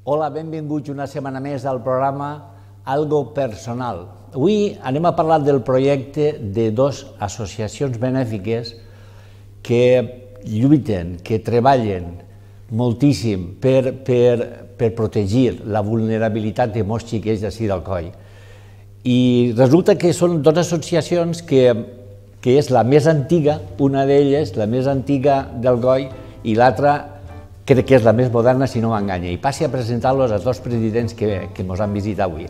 Hola, benvinguts una setmana més al programa Algo Personal. Avui anem a parlar del projecte de dues associacions benèfiques que lluiten, que treballen moltíssim per protegir la vulnerabilitat de molts xiquets d'ací d'Alcoi. I resulta que són dues associacions que és la més antiga, una d'elles, la més antiga d'Alcoi, i l'altra crec que és la més moderna, si no m'enganya. I passi a presentar-los als dos presidents que ens han visitat avui.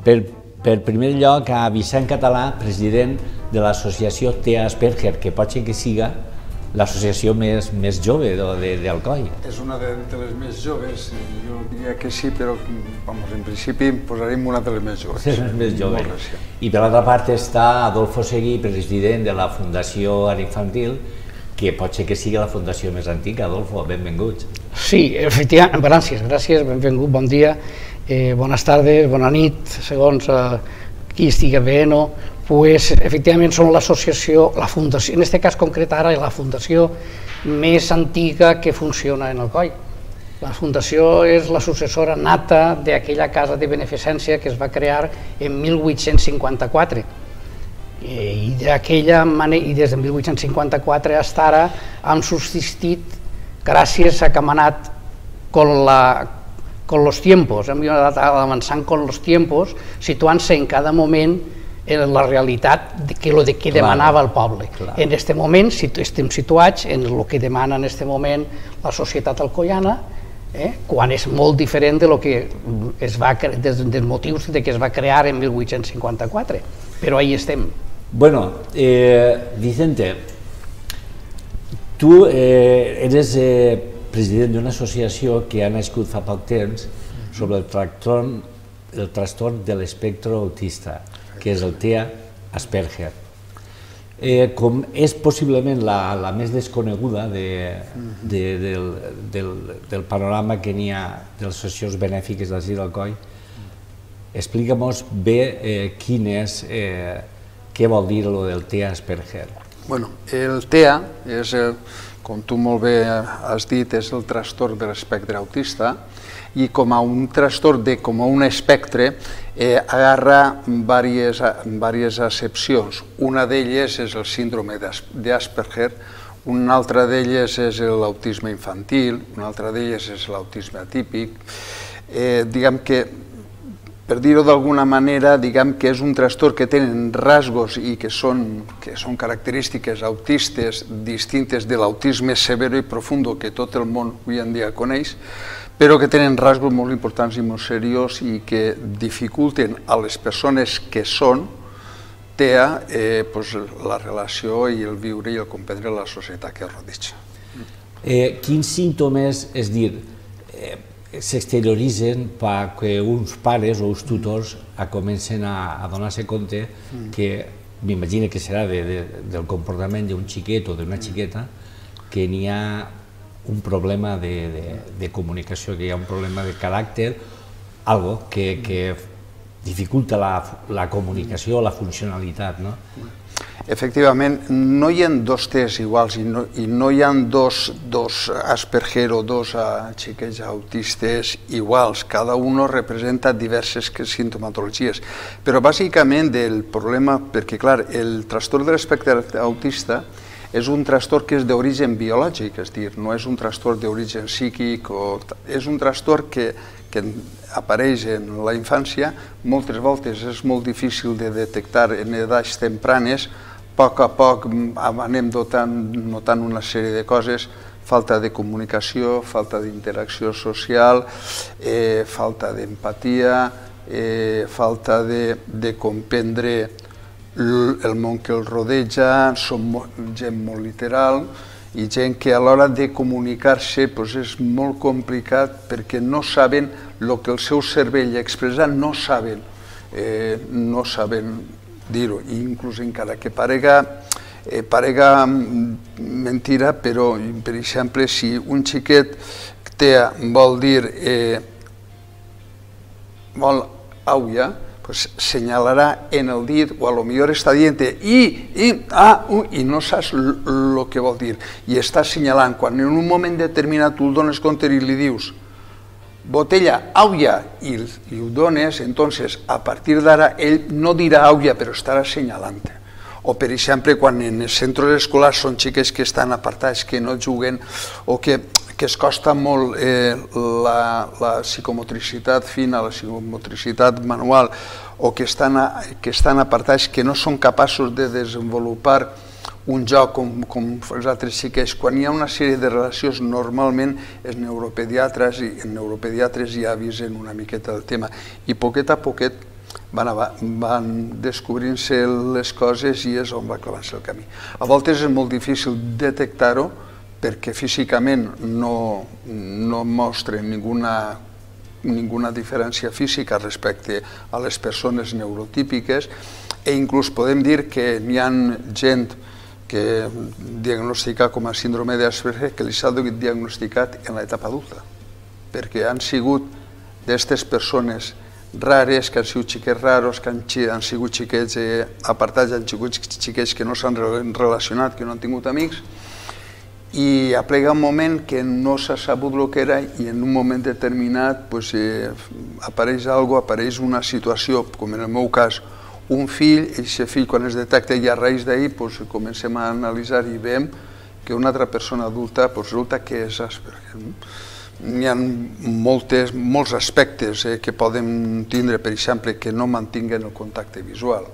Per primer lloc, a Vicent Català, president de l'associació TEA Asperger, que pot ser que siga l'associació més jove d'Alcoi. És una de les més joves, jo diria que sí, però en principi posarem una de les més joves. És més jove. I per l'altra part està Adolfo Seguí, president de la Fundació Ara Infantil, que pot ser que sigui la fundació més antiga. Adolfo, benvinguts. Sí, efectivament, gràcies, benvingut, bon dia, bones tardes, bona nit, segons qui estigui bé, no? Pues, efectivament, som l'associació, la fundació, en aquest cas concret ara, la fundació més antiga que funciona en Alcoi. La fundació és la successora nata d'aquella casa de beneficència que es va crear en 1854. I d'aquella manera, i des de 1854 fins ara hem subsistit gràcies a que hem anat con los tiempos, hem anat avançant con los tiempos, situant-se en cada moment en la realitat que demanava el poble. En aquest moment estem situats en el que demana en aquest moment la societat alcoiana, quan és molt diferent dels motius que es va crear en 1854, però ahí estem. Bueno, Vicente, tu eres president d'una associació que ha nascut fa poc temps sobre el trastorn de l'espectre autista, que és el TEA Asperger. Com és possiblement la més desconeguda del panorama que n'hi ha de les associacions benèfiques d'ací d'Alcoi, explica-nos bé què vol dir el del TEA Asperger. Bueno, el TEA és, com tu molt bé has dit, és el trastorn de l'espectre autista, i com a un trastorn, com a un espectre, agarra diverses accepcions. Una d'elles és el síndrome d'Asperger, una altra d'elles és l'autisme infantil, una altra d'elles és l'autisme atípic. Diguem que, per dir-ho d'alguna manera, diguem que és un trastorn que tenen rasgos i que són característiques autistes distintes de l'autisme severo i profundo que tot el món avui en dia coneix, però que tenen rasgos molt importants i molt seriós i que dificulten a les persones que són TEA la relació i el viure i el comprendre la societat que rodeja. Quins símptomes, és dir, s'exterioritzen perquè uns pares o uns tutors comencen a donar-se compte que, m'imagino que serà del comportament d'un xiquet o d'una xiqueta, que n'hi ha un problema de comunicació, que hi ha un problema de caràcter, algo que dificulta la comunicació, la funcionalitat, no? Efectivament, no hi ha dos tests iguals i no hi ha dos Asperger o dos xiquets autistes iguals. Cada un representa diverses sintomatologies. Però bàsicament el problema, perquè clar, el trastorn de l'espectre autista és un trastorn que és d'origen biològic, és a dir, no és un trastorn d'origen psíquic, és un trastorn que apareix en la infància, moltes voltes és molt difícil de detectar en edats tempranes, a poc anem notant una sèrie de coses, falta de comunicació, falta d'interacció social, falta d'empatia, falta de comprendre el món que el rodeja, som gent molt literal i gent que a l'hora de comunicar-se és molt complicat perquè no saben el que el seu cervell expressa, no saben dir-ho, inclús encara que parega mentira, però, per exemple, si un xiquet TEA vol dir vol auia, señalarà en el dit, o a lo millor està dient i no saps el que vol dir, i està assenyalant. Quan en un moment determinat tu el dones compte i li dius botella, aulla, i ho dones, entonces a partir d'ara ell no dirà aulla però estarà assenyalant. O per exemple quan en els centres escolars són xiques que estan apartats, que no juguen o que es costa molt la psicomotricitat fina, la psicomotricitat manual, o que estan apartats, que no són capaços de desenvolupar un joc com els altres xiquets. Quan hi ha una sèrie de relacions, normalment els neuropediatres ja avisen una miqueta del tema i poquet a poquet van descobrint-se les coses i és on va clavant-se el camí. A voltes és molt difícil detectar-ho perquè físicament no mostren ninguna diferència física respecte a les persones neurotípiques i inclús podem dir que n'hi ha gent que diagnostica com a síndrome d'Asperger que li s'ha diagnosticat en l'etapa adulta, perquè han sigut d'aquestes persones rares, que han sigut xiquets raros, que han sigut xiquets apartats, han sigut xiquets que no s'han relacionat, que no han tingut amics, i aplega un moment que no s'ha sabut el que era i en un moment determinat apareix una situació, com en el meu cas, un fill, i aquest fill quan es detecta i a raïs d'ahir comencem a analitzar i veiem que una altra persona adulta resulta que és Asperger. N'hi ha molts aspectes que poden tindre, per exemple, que no mantinguen el contacte visual.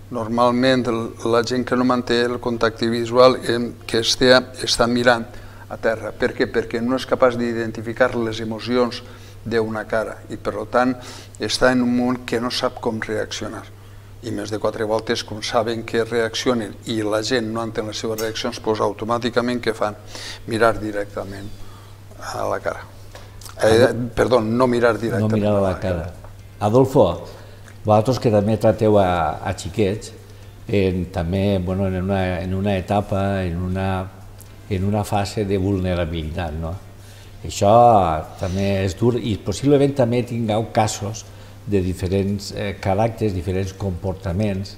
Normalment la gent que no manté el contacte visual que està mirant a terra. Per què? Perquè no és capaç d'identificar les emocions d'una cara i per tant està en un món que no sap com reaccionar i més de 4 voltes com saben que reaccionen i la gent no entén les seves reaccions, doncs automàticament què fan? Mirar directament a la cara. Perdó, no mirar directament a la cara. Adolfo, vosaltres que també trateu a xiquets també en una etapa, en una fase de vulnerabilitat, no? Això també és dur i possiblement també tingueu casos de diferents caràcters, diferents comportaments.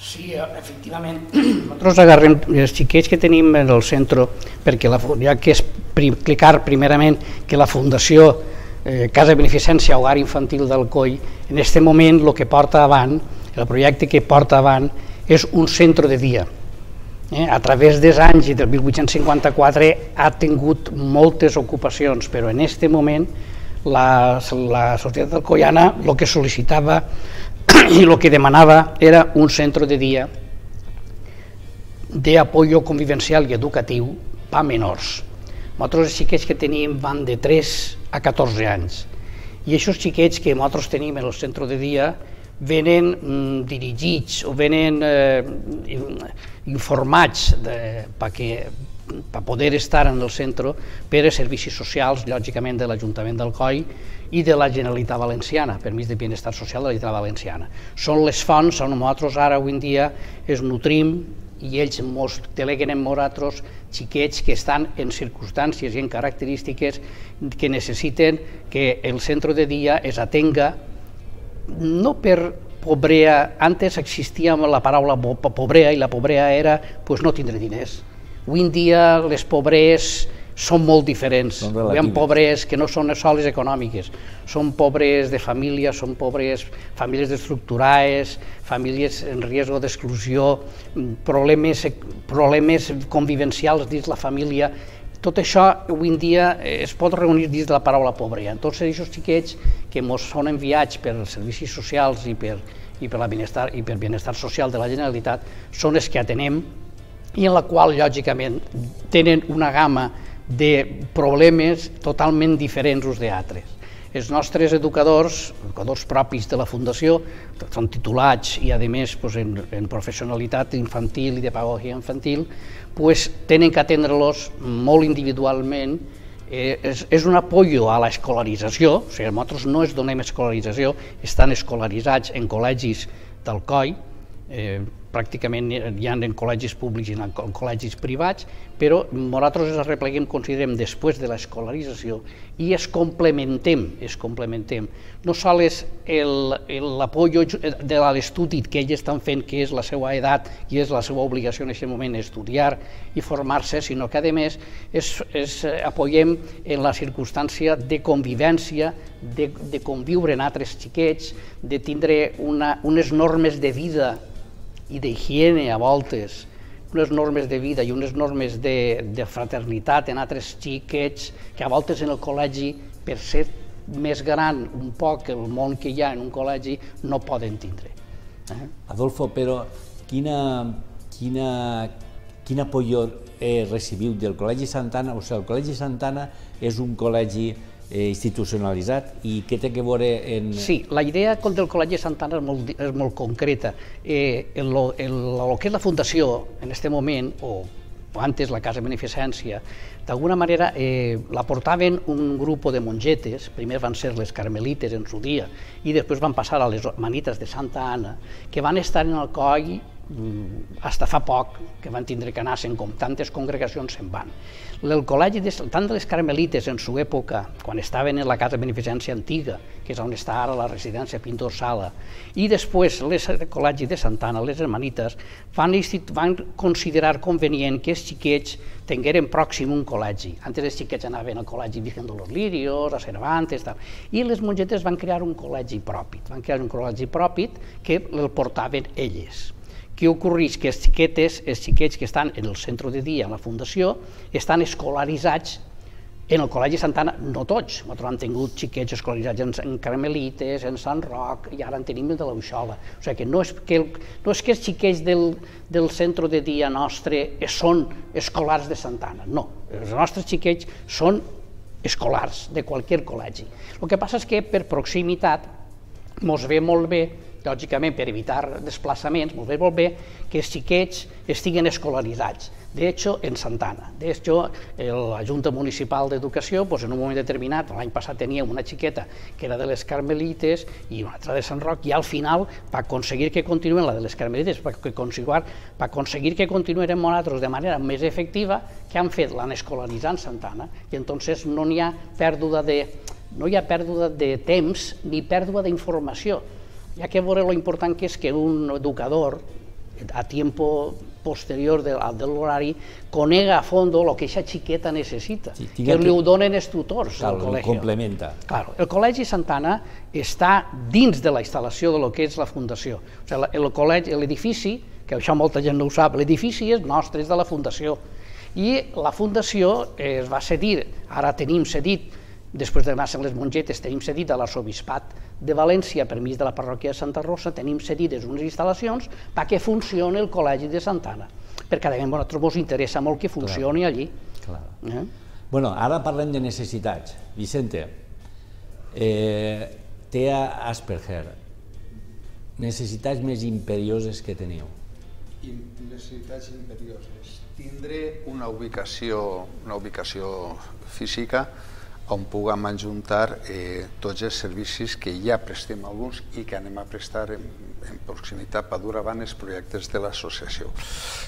Sí, efectivament. Nosaltres agarrem els xiquets que tenim en el centre, perquè ja que explicar primerament que la Fundació Casa de Beneficència Hogar Infantil d'Alcoi, en aquest moment el que porta avant, el projecte que porta avant, és un centre de dia. A través dels anys i del 1854 ha tingut moltes ocupacions, però en aquest moment la societat alcoiana el que sol·licitava i el que demanava era un centre de dia d'apoyo convivencial i educatiu per a menors. Nosaltres els xiquets que tenim van de 3 a 14 anys i aquests xiquets que nosaltres tenim en el centre de dia venen dirigits o venen informats per poder estar en el centre per a servicis socials, lògicament de l'Ajuntament d'Alcoi i de la Generalitat Valenciana, permís de benestar social de la Generalitat Valenciana. Són les fonts on nosaltres ara avui en dia es nutrim i ells ens deleguen en nosaltres xiquets que estan en circumstàncies i en característiques que necessiten que el centre de dia es atenga no per pobrea. Antes existia la paraula pobrea i la pobrea era no tindre diners. Avui en dia les pobres són molt diferents. Hi ha pobres que no són soles econòmiques, són pobres de família, són pobres famílies destructurades, famílies en risc d'exclusió, problemes convivencials dins la família. Tot això avui en dia es pot reunir dins de la paraula pobrea. Tots aquests xiquets que ens són enviats per servicis socials i per benestar social de la Generalitat són els que atenem i en la qual, lògicament, tenen una gamma de problemes totalment diferents uns d'altres. Els nostres educadors propis de la Fundació, són titulats i, a més, en professionalitat infantil i de pedagogia infantil, tenen que atendre-los molt individualment. És un apoyo a l'escolarització, o sigui, nosaltres no es donem escolarització, estan escolaritzats en col·legis d'Alcoi, pràcticament hi ha en col·legis públics i en col·legis privats, però nosaltres ens arrepleguem, considerem, després de l'escolarització i es complementem. No sols l'apoyo de l'estudi que ells estan fent, que és la seva edat i és la seva obligació en aquest moment estudiar i formar-se, sinó que a més apoyem en la circumstància de convivència, de conviure amb altres xiquets, de tindre unes normes de vida i d'higiene a voltes, unes normes de vida i unes normes de fraternitat en altres xiquets que a voltes en el col·legi, per ser més gran un poc el món que hi ha en un col·legi, no poden tindre. Adolfo, però quin apoyo recibiu del Col·legi Santana? O sigui, el Col·legi Santana és un col·legi institucionalitzat i què té que veure en... Sí, la idea del Col·legi Santana és molt concreta. El que és la fundació en aquest moment, o antes la Casa de Beneficència, d'alguna manera la portaven un grup de mongetes, primer van ser les carmelites en su dia i després van passar a les manites de Santa Anna, que van estar en el coll fins fa poc, que van tindre que anar-se'n, com tantes congregacions se'n van. El col·legi, tant de les carmelites en su època, quan estaven en la Casa de Beneficència antiga, que és on està ara la residència Pintor Sala, i després el col·legi de Santa Anna, les hermanites, van considerar convenient que els xiquets tingueren pròxim un col·legi. Antes els xiquets anaven al col·legi Virgen de los Lirios, a Cervantes, i les mongetes van crear un col·legi propi, que el portaven elles. Què ocorreix? Que els xiquets que estan en el centre de dia, en la fundació, estan escolaritzats en el Col·legi Santana, no tots. Nosaltres hem tingut xiquets escolaritzats en Carmelites, en Sant Roc, i ara en tenim el de l'Auxola. O sigui que no és que els xiquets del centre de dia nostre són escolars de Santana, no. Els nostres xiquets són escolars de qualsevol col·legi. El que passa és que per proximitat ens ve molt bé, lògicament per evitar desplaçaments, ens ve molt bé que els xiquets estiguen escolaritzats. De hecho, en Santana. De hecho, la Junta Municipal d'Educació, en un moment determinat, l'any passat teníem una xiqueta que era de les Carmelites i una altra de Sant Roc, i al final, per aconseguir que continuïn la de les Carmelites, per aconseguir que continuïn nosaltres de manera més efectiva, que han fet? L'han escolaritzat en Santana, i entonces no hi ha pèrdua de temps ni pèrdua d'informació. Hi ha que veure lo important que és que un educador, a tiempo posterior de l'horari, conega a fondo el que aquesta xiqueta necessita, que li ho donen els tutors del col·legi. Complementa. El Col·legi Santana està dins de la instal·lació del que és la fundació. L'edifici, que això molta gent no ho sap, l'edifici és nostre, és de la fundació. I la fundació es va cedir, ara tenim cedit, després de anar-se'n les mongetes, tenim cedit a l'arxebisbat de València, per mig de la parròquia de Santa Rosa, tenim cedides unes instal·lacions perquè funcioni el Col·legi de Santana, perquè a nosaltres ens interessa molt que funcioni allí. Bueno, ara parlem de necessitats. Vicente, TEA Asperger, necessitats més imperioses que teniu? Necessitats imperioses. Tindre una ubicació física on puguem ajuntar tots els servicis que ja prestem alguns i que anem a prestar en proximitat per dur avant els projectes de l'associació.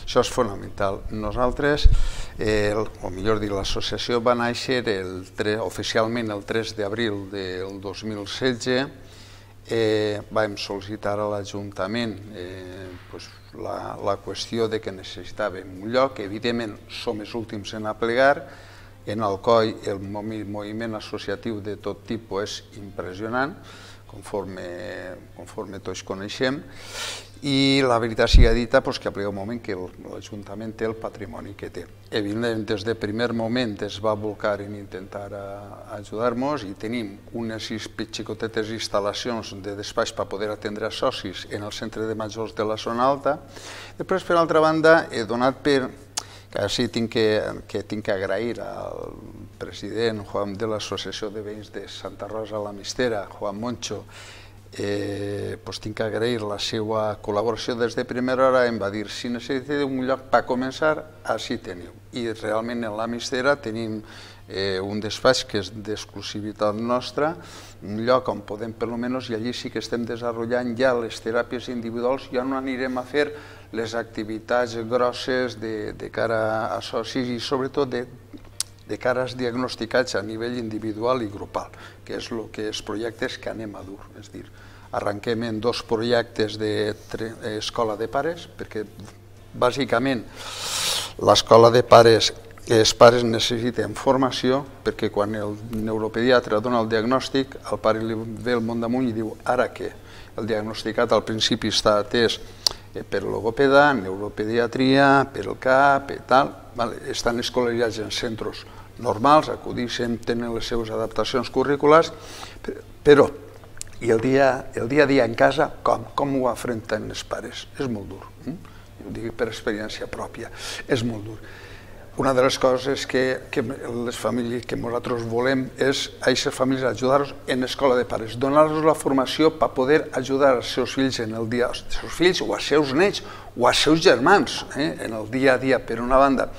Això és fonamental. Nosaltres, o millor dir, l'associació va néixer oficialment el 3 d'abril del 2016. Vam sol·licitar a l'Ajuntament la qüestió de que necessitàvem un lloc. Evidentment, som els últims en aplegar. En Alcoi el moviment associatiu de tot tipus és impressionant, conforme tots coneixem, i la veritat sigui dita que arriba un moment que l'Ajuntament té el patrimoni que té. Evidentment, des del primer moment es va volcar en intentar ajudar-nos i tenim unes xicotetes instal·lacions de despatx per poder atendre socis en el centre de majors de la zona alta. Després, per altra banda, he donat per que sí tinc que agrair al president de l'Associació de Veïns de Santa Rosa la Mistera, Juan Moncho, tinc que agrair la seva col·laboració des de primera hora. Em va dir, si necessiteu un lloc per començar, així teniu. I realment en la Mistera tenim un despatx que és d'exclusivitat nostra, un lloc on podem, per almenys, i allí sí que estem desenvolupant ja les teràpies individuals, ja no anirem a fer les activitats grosses de cara a socis i sobretot de cara als diagnosticats a nivell individual i grupal, que és els projectes que anem a dur. És a dir, arrenquem en 2 projectes d'escola de pares, perquè bàsicament l'escola de pares, els pares necessiten formació, perquè quan el neuropediatre dona el diagnòstic, el pare li ve el món damunt i diu ara què? El diagnosticat al principi està atès per logopeda, neuropediatria, per el CAP, tal, estan escolaritzats en centres normals, acudixen, tenen les seves adaptacions curriculars, però i el dia a dia en casa, com ho afronten els pares? És molt dur, ho dic per experiència pròpia, és molt dur. Una de les coses que les famílies que nosaltres volem és a aquestes famílies ajudar-los en l'escola de pares, donar-los la formació per poder ajudar els seus fills en el dia, els seus fills o els seus nets o els seus germans en el dia a dia, per una banda.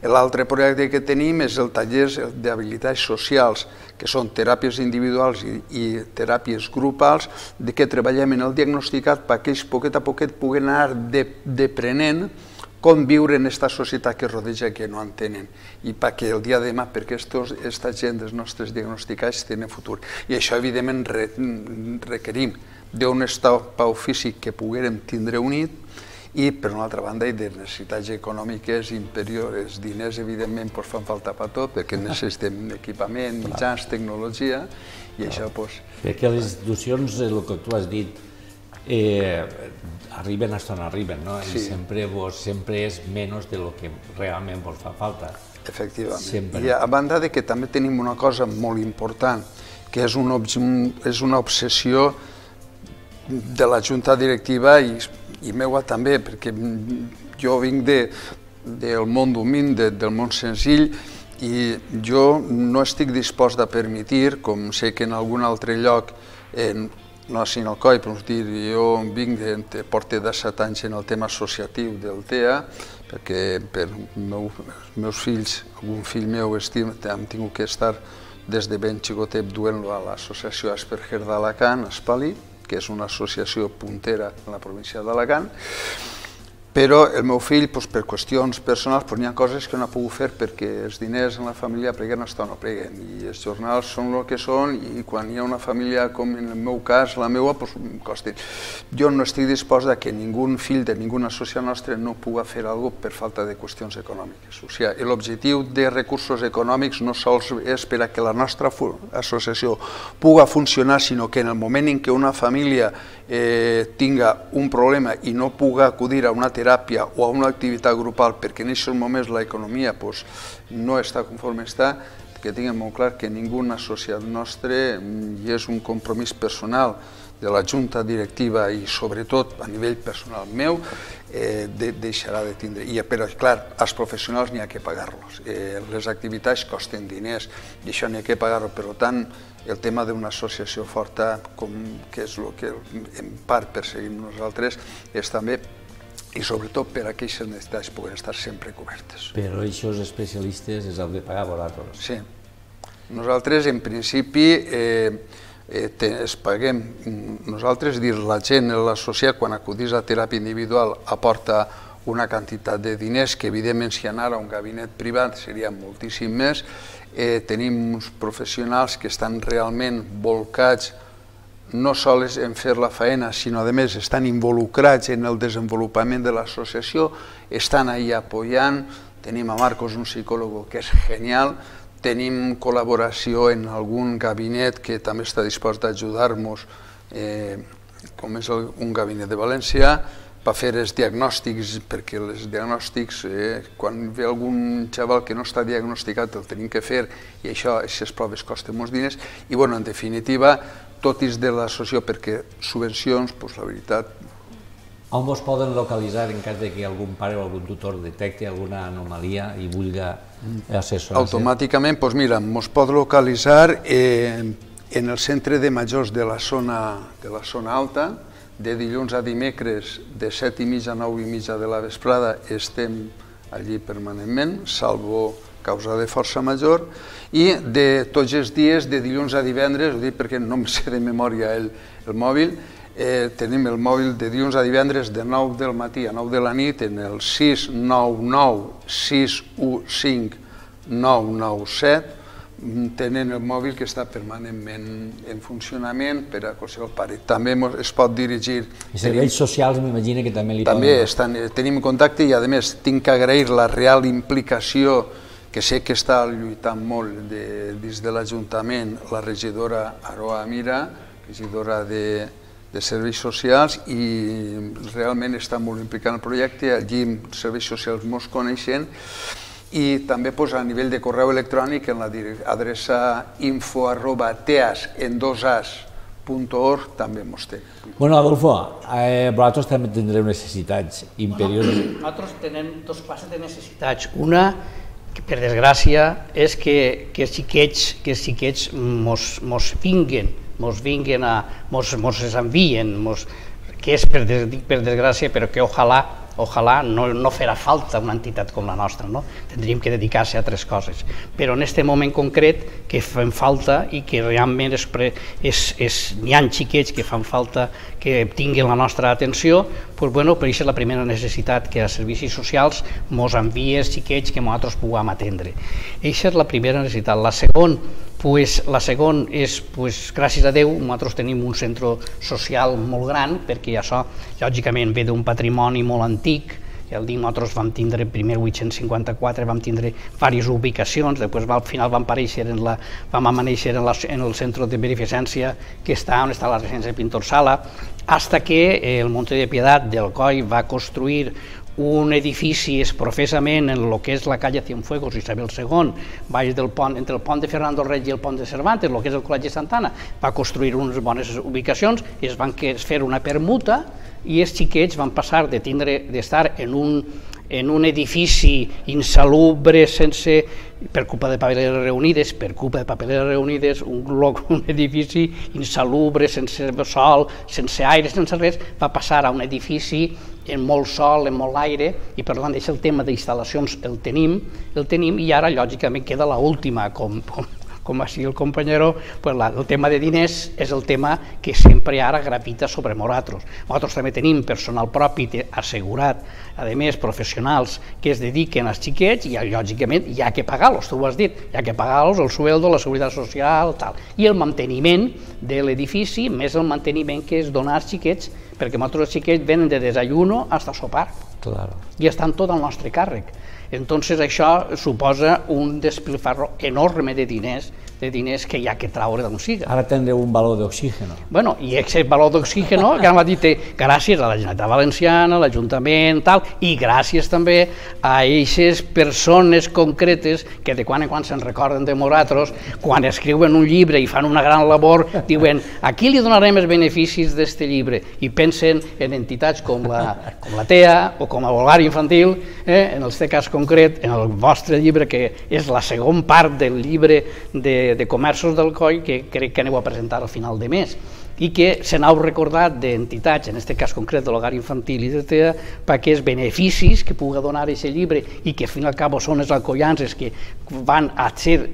L'altre projecte que tenim és el taller d'habilitats socials, que són teràpies individuals i teràpies grupals, de què treballem en el diagnosticat perquè ells poquet a poquet puguen anar deprenent com viure en aquesta societat que rodeja que no entenen i perquè el dia de demà, perquè aquesta gent dels nostres diagnosticats tenen futur. I això, evidentment, requerim d'un estat físic que poguérem tindre unit i, per una altra banda, de necessitats econòmiques inferiors. Diners, evidentment, fan falta per tot, perquè necessitem equipament, mitjans, tecnologia, i això... Perquè les institucions, el que tu has dit, arriben hasta on arriben, no? I sempre és menys del que realment vos fa falta. Efectivament. I a banda que també tenim una cosa molt important, que és una obsessió de la junta directiva i meua també, perquè jo vinc del món humil, del món senzill, i jo no estic dispost a permetre, com sé que en algun altre lloc, no a Sinalcoi, però jo porto 17 anys en el tema associatiu del TEA, perquè per els meus fills, algun fill meu hem tingut que estar des de ben xicotet duent-lo a l'associació Asperger d'Alacant, Espali, que és una associació puntera en la província d'Alacant, però el meu fill, per qüestions personals, n'hi ha coses que no ha pogut fer perquè els diners en la família pleguen hasta on no pleguen, i els jornals són el que són, i quan hi ha una família, com en el meu cas, la meva, costa. Jo no estic dispost que ningú fill de ninguna associació nostra no pugui fer alguna cosa per falta de qüestions econòmiques. O sigui, l'objectiu de recursos econòmics no sols és per a que la nostra associació pugui funcionar, sinó que en el moment en què una família tinga un problema i no pugui acudir a una teràpia o a una activitat grupal perquè en aquests moments l'economia no està conforme està, que tinguem molt clar que ningú associat nostre, i és un compromís personal de la junta directiva i sobretot a nivell personal meu, deixarà de tindre. Però, clar, als professionals n'hi ha que pagar-los. Les activitats costen diners i això n'hi ha que pagar-ho. Per tant, el tema d'una associació forta, que és el que en part perseguim nosaltres, és també, i sobretot per a aquestes necessitats puguen estar sempre cobertes. Però aquests especialistes els heu de pagar vosaltres. Sí. Nosaltres, en principi, es paguem. Nosaltres, la gent, l'associat, quan acudís a teràpia individual, aporta una quantitat de diners que, evidentment, si anara a un gabinet privat seria moltíssim més. Tenim uns professionals que estan realment volcats no sols en fer la feina, sinó a més estan involucrats en el desenvolupament de l'associació, estan ahí apoyant. Tenim a Marcos, un psicòleg que és genial, tenim col·laboració en algun gabinet que també està dispost a ajudar-nos, com és un gabinet de València, per fer els diagnòstics, perquè els diagnòstics, quan ve algun xaval que no està diagnosticat, el tenim que fer, i això, aquestes proves costen molts diners, i, en definitiva, tot és de l'associació, perquè subvencions, la veritat... On vos poden localitzar en cas que algun pare o algun tutor detecti alguna anomalia i vulgui assessorar-se? Automàticament, mira, ens pot localitzar en el centre de majors de la zona alta. De dilluns a dimecres, de 7:30 a 9:30 de la vesprada, estem allí permanentment, salvo causa de força major, i de tots els dies, de dilluns a divendres, ho dic perquè no em sé de memòria el mòbil, tenim el mòbil de dilluns a divendres de 9 del matí a 9 de la nit en el 699-615-997. Tenen el mòbil que està permanentment en funcionament per a qualsevol pare. També es pot dirigir... I serveis socials m'imagino que també li poden... També tenim contacte i a més tinc que agrair la real implicació que sé que està lluitant molt dins de l'Ajuntament la regidora Aroa Amira, regidora de Serveis Socials, i realment està molt implicada en el projecte. Allí els serveis socials mos coneixen. I també a nivell de correu electrònic en l'adreça info@teas.org també mos té. Bueno, Adolfo, vosaltres també tindreu necessitats imperioses. Nosaltres tenim dues classes de necessitats. Una, que per desgràcia, és que els xiquets mos vinguen, mos les envien, que és per desgràcia, però que ojalà no farà falta una entitat com la nostra, no? Tindríem que dedicar-se a altres coses. Però en aquest moment concret que fan falta i que realment n'hi ha xiquets que fan falta que tinguin la nostra atenció, per això és la primera necessitat, que els servicis socials mos envien els xiquets que nosaltres puguem atendre. Aquesta és la primera necessitat. La segona és, gràcies a Déu, nosaltres tenim un centre social molt gran, perquè això, lògicament, ve d'un patrimoni molt antic. Ja el dic, nosaltres vam tindre, primer 854, vam tindre diverses ubicacions, després al final vam aparèixer en el centre de beneficència que està on està la residència de Pintor Sala, fins que el Monte de Piedad del Coll va construir un edifici professament en el que és la calle Cienfuegos Isabel II, baix del pont, entre el pont de Fernando Reig i el pont de Cervantes, el que és el Col·legi Santana, va construir unes bones ubicacions, es van fer una permuta i els xiquets van passar d'estar en un edifici insalubre per culpa de Papeleres Reunides, un edifici insalubre, sense sol, sense aire, sense res, va passar a un edifici en molt sol, en molt aire, i per tant el tema d'instal·lacions el tenim, i ara lògicament queda l'última, com va dir el companyero, el tema de diners és el tema que sempre ara gravita sobre nosaltres. Nosaltres també tenim personal propi assegurat, a més professionals que es dediquen als xiquets, i lògicament hi ha que pagar-los, tu ho has dit, hi ha que pagar-los el sueldo, la seguretat social, tal, i el manteniment de l'edifici, més el manteniment que és donar als xiquets, perquè nosaltres els xiquets venen de desayuno fins a sopar, i estan tot al nostre càrrec. Entonces això suposa un despilfarro enorme de diners que hi ha que traure d'on siga. Ara tindreu un baló d'oxígeno. Bueno, i aquest baló d'oxígeno, que m'ha dit, gràcies a la Generalitat Valenciana, l'Ajuntament, tal, i gràcies també a aquestes persones concretes que de quan en quan se'n recorden de nosaltres, quan escriuen un llibre i fan una gran labor, diuen, a qui li donarem els beneficis d'aquest llibre? I pensen en entitats com la TEA o com a Bolgari Infantil, en el seu cas concret, en el vostre llibre, que és la segona part del llibre de comerços del Coll, que crec que aneu a presentar al final de mes, i que se n'heu recordat d'entitats, en aquest cas concret de l'Hogar Infantil i de TEA, perquè els beneficis que pugui donar aquest llibre, i que al fin i al cap són els alcoians que van a ser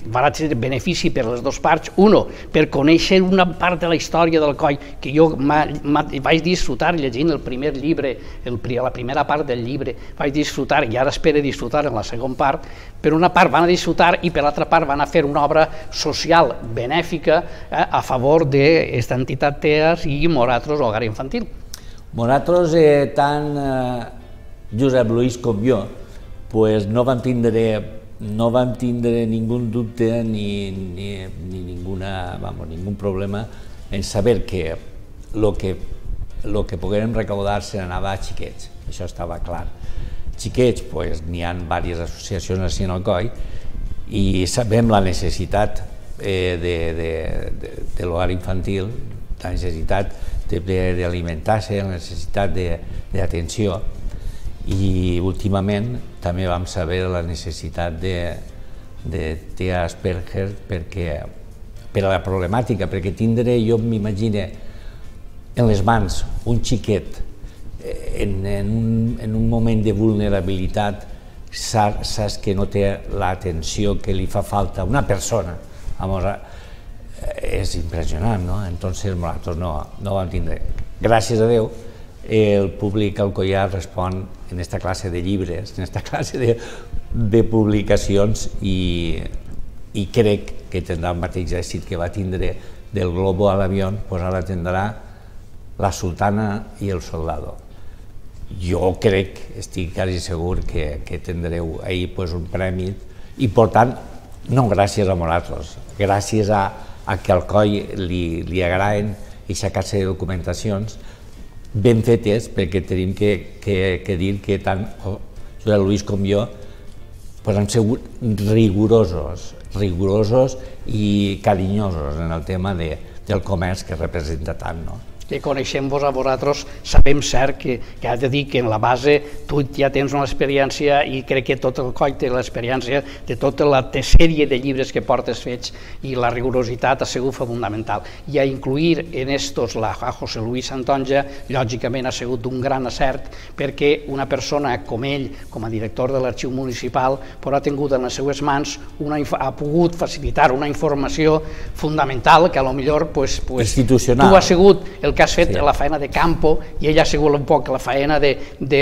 benefici per les dues parts. Uno, per conèixer una part de la història del Coll, que jo vaig disfrutar llegint el primer llibre, la primera part del llibre, vaig disfrutar, i ara espero disfrutar en la segona part. Per una part van a disfrutar i per l'altra part van a fer una obra social benèfica a favor d'aquesta entitat TEAS i nosaltres, Hogar Infantil. Nosaltres, tant Josep Luis com jo, no vam tindre ningú dubte ni ningú problema en saber que el que poguérem recaudar se n'anava a xiquets, això estava clar. Xiquets, n'hi ha diverses associacions així en el Coll i sabem la necessitat de l'hogar infantil, la necessitat d'alimentar-se, la necessitat d'atenció, i últimament també vam saber la necessitat de TEA Asperger per a la problemàtica, perquè tindre, jo m'imagino, en les mans un xiquet en un moment de vulnerabilitat, saps que no té l'atenció que li fa falta a una persona. És impressionant, no? Entonces nosaltres no vam tindre. gràcies a Déu, el públic alcoià respon en aquesta classe de llibres, en aquesta classe de publicacions i crec que tindrà el mateix èxit que va tindre del globo a l'avió, doncs ara tindrà la sultana i el soldado. Jo crec, estic quasi segur que tindreu ahir un premi i per tant, no gràcies a vosaltres, gràcies a que al COI li agraden aquesta classe de documentacions ben fetes, perquè tenim que dir que tant Josep Lluís com jo han sigut rigorosos i carinyosos en el tema del comerç que representa tant. Que coneixem-vos a vosaltres, sabem cert que has de dir que en la base tu ja tens una experiència i crec que tot el COI té l'experiència de tota la sèrie de llibres que portes fets i la rigorositat ha sigut fonamental. I a incluir en estos a José Luis Santonja, lògicament ha sigut un gran acert perquè una persona com ell, com a director de l'Arxiu Municipal, ha tingut en les seues mans, ha pogut facilitar una informació fundamental que potser institucional. Tu has sigut el que has fet la feina de campo i ella ha sigut un poc la feina de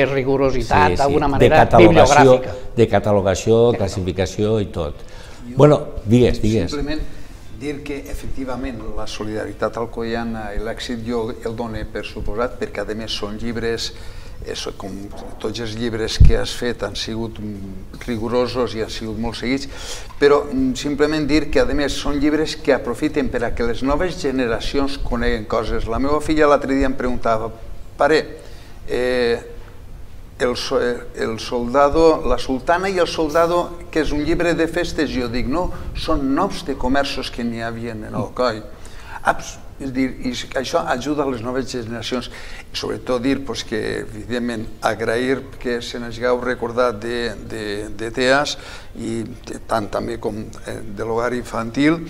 rigorositat, d'alguna manera bibliogràfica. De catalogació, classificació i tot. Bueno, digues. Simplement dir que efectivament la solidaritat alcoiana i l'èxit jo el dono per suposat perquè a més són llibres, com tots els llibres que has fet han sigut rigorosos i han sigut molt seguits, però simplement dir que a més són llibres que aprofiten per a que les noves generacions coneguen coses. La meva filla l'altre dia em preguntava, pare, el soldado, la sultana i el soldado, que és un llibre de festes, jo dic, no, són noms de comerços que n'hi havia en Alcoi. És dir, això ajuda a les noves generacions i sobretot dir que, evidentment, agrair que se n'hagueu recordat de TEAS i tant també com de l'hogar infantil,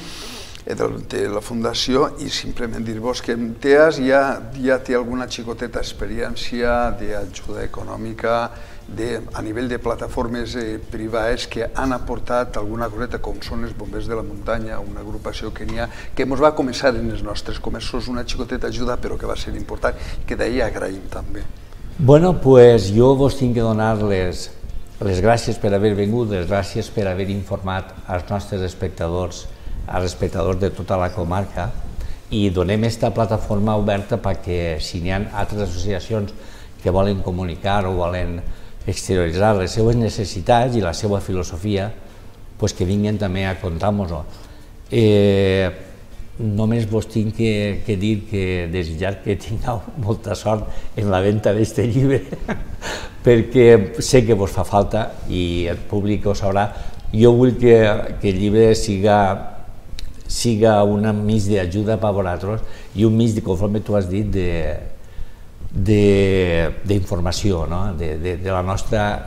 de la Fundació, i simplement dir-vos que TEAS ja té alguna xicoteta experiència d'ajuda econòmica a nivell de plataformes privades que han aportat alguna coseta, com són els bombers de la muntanya, una agrupació que n'hi ha, que ens va començar en els nostres comerços, una xicoteta ajuda, però que va ser important, que d'ahir agraïm també. Bueno, doncs jo vos tinc que donar les gràcies per haver vingut, les gràcies per haver informat als nostres espectadors, als espectadors de tota la comarca, i donem aquesta plataforma oberta perquè si n'hi ha altres associacions que volen comunicar o volen exterioritzar les seues necessitats i la seva filosofia, que vinguin també a contar-nos-ho. Només vos tinc que dir que desitjar que tingueu molta sort en la venda d'aquest llibre, perquè sé que vos fa falta i el públic ho sabrà. Jo vull que el llibre siga un mig d'ajuda per a vosaltres i un mig, conforme tu has dit, d'informació, de la nostra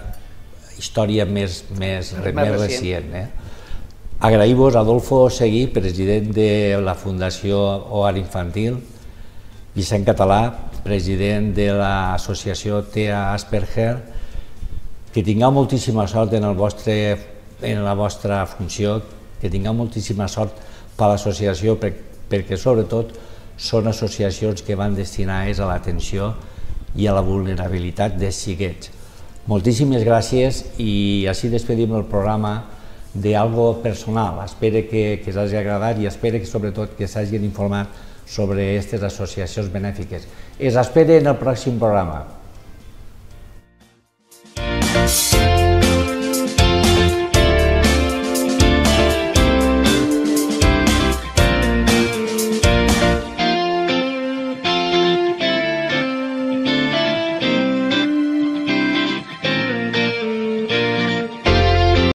història més recent. Agrair-vos a Adolfo Seguí, president de la Fundació Hogar Infantil, Vicent Català, president de l'associació TEA Asperger, que tingueu moltíssima sort en la vostra funció, que tingueu moltíssima sort per a l'associació, perquè sobretot són associacions que van destinades a l'atenció i a la vulnerabilitat dels xiquets. Moltíssimes gràcies i així despedim el programa d'algo personal. Espero que us hagi agradat i espero que sobretot que s'hagin informat sobre aquestes associacions benèfiques. Es espero en el pròxim programa.